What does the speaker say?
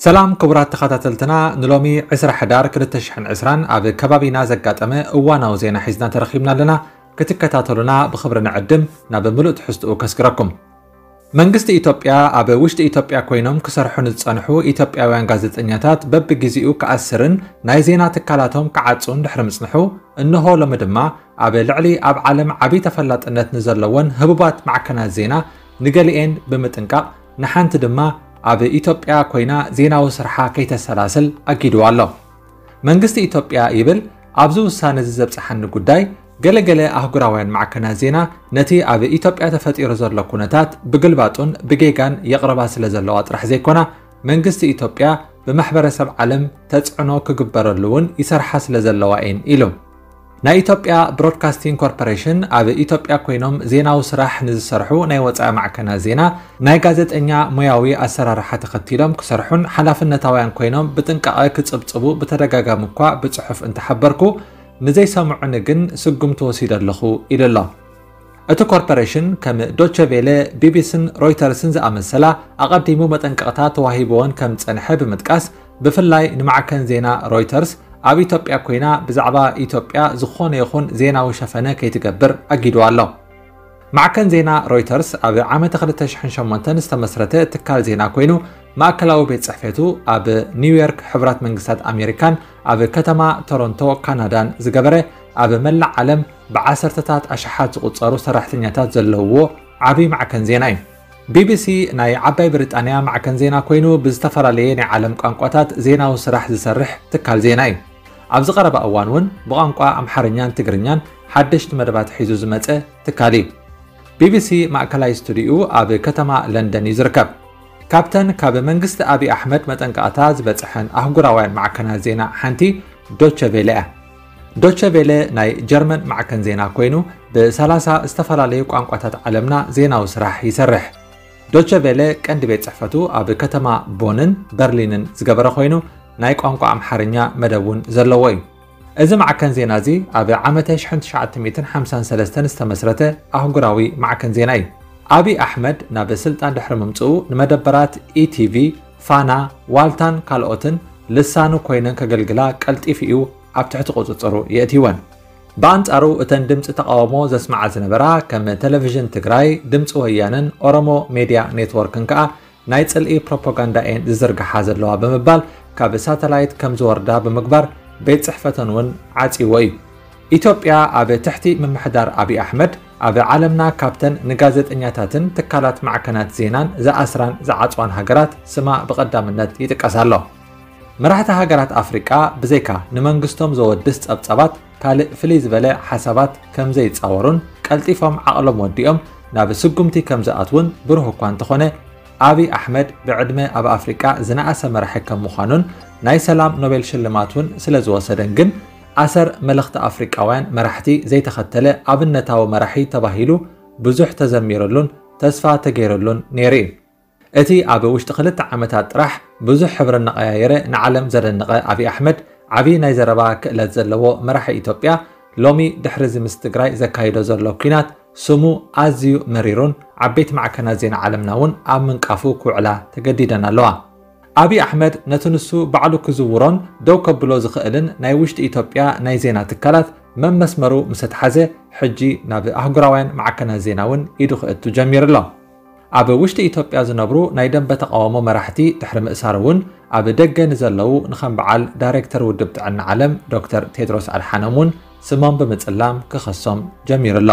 ሰላም ክቡራት ተኸታተልትና፣ ንሎሚ ዕስራ ሕዳር ክልተ ሽሕን ዕስራን ኣብ ከባቢና ዘጋጠመ እዋናዊ ዜና ሒዝና ተረኺብና ኣለና። ክትከታተሉና ብኽብሪ ንዕድም። ናብ ምሉእ ትሕዝትኡ ከስግረኩም። መንግስቲ ኢትዮጵያ ኣብ ውሽጢ ኢትዮጵያ ኮይኖም ክሰርሑ ንዝጸንሑ ኢትዮጵያውያን ጋዜጠኛታት በብግዜኡ ክኣስርን ናይ ዜና ትካላቶም ክዓጹን ድሕሪ ምጽንሑ፣ እንሆ ሎሚ ድማ ኣብ ልዕሊ ኣብ ዓለም ዓቢ ተፈላጥነት ንዘለወን ህቡባት ማዕከናት ዜና ንገሊኤን ብምጥንቃቕ፣ ንሓንቲ ድማ ኣብ ኢትዮጵያ ኮይና ዜናዊ ስርሓ ከይተሰላስል ኣጊድዋ ኣሎ። መንግስቲ ኢትዮጵያ ይብል፣ ኣብዚ ውሳነ እዚ ዘብጽሓኒ ጉዳይ፣ ገለገለ ኣህጉራውያን ማዕከናት ዜና ነቲ ኣብ ኢትዮጵያ ተፈጢሩ ዘሎ ኩነታት ብግልባጡን ብጌጋን የቕርባ ስለ ዘለዋ ጥራሕ ዘይኮና፣ መንግስቲ ኢትዮጵያ ብማሕበረሰብ ዓለም ተጽዕኖ ክግበረሉ እውን ይሰርሓ ስለ ዘለዋ እየን ኢሉ። ናይ ኢትዮጵያ ብሮድካስቲንግ ኮርፖሬሽን ኣብ ኢትዮጵያ ኮይኖም ዜናዊ ስራሕ ንዝሰርሑ ናይ ወጻኢ ማዕከናት ዜና ናይ ጋዜጠኛ ሞያዊ ኣሰራርሓ ተኸቲሎም ክሰርሑን ሓላፍነታውያን ኮይኖም ብጥንቃቐ ክጽብጽቡ ብተደጋጋሚ እኳ ብጽሑፍ እንተሓበርኩ፣ ንዘይሰምዑኒ ግን ስጉምቲ ወሲደ ኣለኹ ኢሉ ኣሎ። እቲ ኮርፖሬሽን ከም ዶቸ ቬለ፣ ቢቢሲን ሮይተርስን ዝኣመሰላ ኣቐዲሙ መጠንቀቕታ ተዋሂብዎን ከም ዝጸንሐ ብምጥቃስ፣ ብፍላይ ንማዕከን ዜና ሮይተርስ ኣብ ኢትዮጵያ ኮይና ብዛዕባ ኢትዮጵያ ዝኾነ ይኹን ዜናዊ ሸፈነ ከይትገብር ኣጊድዋ ኣሎ። ማዕከን ዜና ሮይተርስ ኣብ ዓመተ ክልተ ሽሕን ሸሞንተን ዝተመስረተ ትካል ዜና ኮይኑ፣ ማእከላዊ ቤት ጽሕፈቱ ኣብ ኒውዮርክ ሕቡራት መንግስታት ኣሜሪካን ኣብ ከተማ ቶሮንቶ ካናዳን ዝገበረ፣ ኣብ መላእ ዓለም ብዓሰርተታት ኣሽሓት ዝቑጸሩ ሰራሕተኛታት ዘለውዎ ዓቢ ማዕከን ዜና እዩ። ቢቢሲ ናይ ዓባይ ብሪጣንያ ማዕከን ዜና ኮይኑ፣ ብዝተፈላለየ ናይ ዓለም ቋንቋታት ዜናዊ ስራሕ ዝሰርሕ ትካል ዜና እዩ። ኣብዚ ቀረባ እዋን እውን ብቋንቋ ኣምሓርኛን ትግርኛን ሓደሽቲ መደባት ሒዙ ዝመጸ ትካል እዩ። ቢቢሲ ማእከላይ ስቱዲኡ ኣብ ከተማ ለንደን እዩ ዝርከብ። ካብተን ካብ መንግስቲ ኣብይ ኣሕመድ መጠንቀቕታ ዝበጽሐን ኣህጉራውያን ማዕከናት ዜና ሓንቲ ዶቸ ቬለ እያ። ዶቸ ቬለ ናይ ጀርመን ማዕከን ዜና ኮይኑ፣ ብሰላሳ ዝተፈላለዩ ቋንቋታት ዓለምና ዜናዊ ስራሕ ይሰርሕ። ዶቸ ቬለ ቀንዲ ቤት ጽሕፈቱ ኣብ ከተማ ቦንን በርሊንን ዝገበረ ኮይኑ፣ ናይ ቋንቋ ኣምሓርኛ መደብ እውን ዘለዎ እዩ። እዚ ማዕከን ዜና እዚ ኣብ ዓመተ ሽሕን ትሽዓተ ሚእትን ሓምሳን ሰለስተን ዝተመስረተ ኣህጉራዊ ማዕከን ዜና እዩ። ኣብይ ኣሕመድ ናብ ስልጣን ድሕሪ ምምጽኡ፣ ንመደበራት ኢቲቪ፣ ፋና፣ ዋልታን ካልኦትን ልሳኑ ኮይነን ከገልግላ ቀልጢፉ እዩ ኣብ ትሕቲ ቁጽጽሩ የእትይወን። ብኣንጻሩ፣ እተን ድምጺ ተቓውሞ ዘስምዓ ዝነበራ ከም ቴሌቪዥን ትግራይ፣ ድምጺ ወያነን ኦሮሞ ሜድያ ኔትወርክን ከኣ ናይ ጽልኢ ፕሮፓጋንዳ እየን ዝዝርግሓ ዘለዋ ብምባል፣ ካብ ሳተላይት ከም ዝወርዳ ብምግባር፣ ቤት ጽሕፈተን እውን ዓጽይዎ እዩ። ኢትዮጵያ ኣብ ትሕቲ ምምሕዳር ኣብይ ኣሕመድ፣ ኣብ ዓለምና ካብተን ንጋዜጠኛታትን ትካላት ማዕከናት ዜናን ዝኣስራን ዝዓጽዋን ሃገራት ስማ ብቐዳምነት ይጥቀስ ኣሎ። መራሕቲ ሃገራት ኣፍሪቃ ብዘይካ ንመንግስቶም ዘወድስ ጸብጻባት ካልእ ፍልይ ዝበለ ሓሳባት ከም ዘይጻወሩን ቀልጢፎም ዓቕሎም ወዲኦም ናብ ስጉምቲ ከም ዝኣትዉን ብሩህ እኳ እንተኾነ፣ ኣብይ ኣሕመድ ብዕድመ ኣብ ኣፍሪቃ ዝነኣሰ መራሒ ከም ምዃኑን ናይ ሰላም ኖቤል ሽልማት እውን ስለ ዝወሰደን ግን ኣሰር መልኽቲ ኣፍሪቃውያን መራሕቲ ዘይተኸተለ ኣብነታዊ መራሒ ተባሂሉ ብዙሕ ተዘሚርሉን ተስፋ ተገይርሉን ነይሩ እዩ። እቲ ኣብ ውሽጢ ክልተ ዓመታት ጥራሕ ብዙሕ ሕብሪ እናቐያየረ ንዓለም ዘደነቐ ኣብይ ኣሕመድ፣ ዓብዪ ናይ ዘረባ ክእለት ዘለዎ መራሒ ኢትዮጵያ፣ ሎሚ ድሕሪ እዚ ምስ ትግራይ ዘካይዶ ዘሎ ኲናት ስሙ ኣዝዩ መሪሩን ዓበይቲ ማዕከናት ዜና ዓለምና እውን ኣብ ምንቃፉ ክውዕላ ተገዲደን ኣለዋ። ኣብይ ኣሕመድ ነቲ ንሱ ባዕሉ ክዝውሮን ደው ከብሎ ዝኽእልን ናይ ውሽጢ ኢትዮጵያ ናይ ዜና ትካላት መመስመሩ ምስ ኣትሓዘ፣ ሕጂ ናብ ኣህጉራውያን ማዕከናት ዜና እውን ኢዱ ክእቱ ጀሚሩ ኣሎ። ኣብ ውሽጢ ኢትዮጵያ ዝነብሩ ናይ ደንበ ተቓውሞ መራሕቲ ድሕሪ ምእሳር እውን፣ ኣብ ደገ ንዘለዉ ንኸም በዓል ዳይሬክተር ውድብ ጥዕና ዓለም ዶክተር ቴድሮስ ኣድሓኖም እውን ስሞም ብምጽላም ክኸሶም ጀሚሩ ኣሎ።